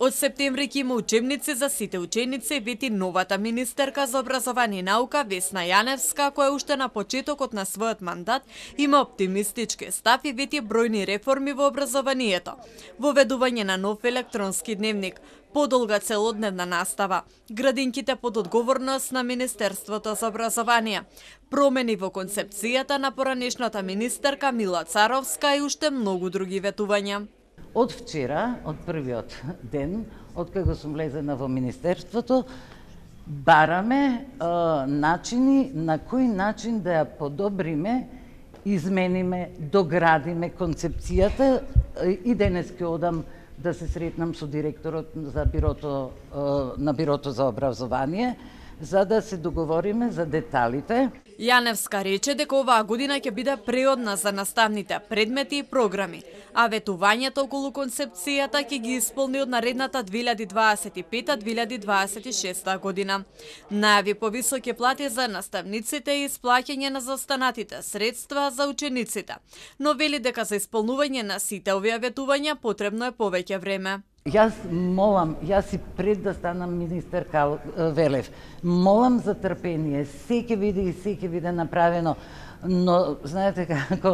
Од септември ќе има учебници за сите ученици, вети новата министерка за образование и наука Весна Јаневска, која уште на почетокот на својот мандат има оптимистички став и вети бројни реформи во образованието. Воведување на нов електронски дневник, подолга целодневна настава, градинките под одговорност на Министерството за образование, промени во концепцијата на поранешната министерка Мила Царовска и уште многу други ветувања. Од вчера, од првиот ден, од кога сум влезена во Министерството, бараме начини на кој начин да ја подобриме, измениме, доградиме концепцијата и денес ќе одам да се сретнам со директорот на Бирото за образование, за да се договориме за деталите. Јаневска рече дека оваа година ќе биде преодна за наставните предмети и програми, а ветувањето околу концепцијата ќе ги исполни од наредната 2025-2026 година. Најави повисоки плати за наставниците и исплаќање на заостанатите средства за учениците, но вели дека за исполнување на сите овие ветувања потребно е повеќе време. Јас и пред да станам министер велев, молам за трпение, се ќе биде направено, но знаете како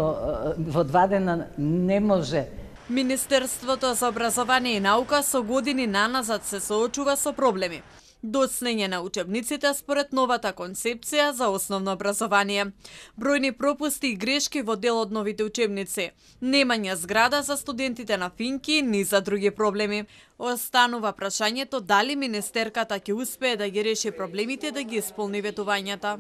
во 2 дена не може. Министерството за образование и наука со години наназад се соочува со проблеми. Доцнење на учебниците според новата концепција за основно образование, бројни пропусти и грешки во дел од новите учебници, немање зграда за студентите на Финки, ни за други проблеми. Останува прашањето дали министерката ќе успее да ги реши проблемите да ги исполни ветувањата.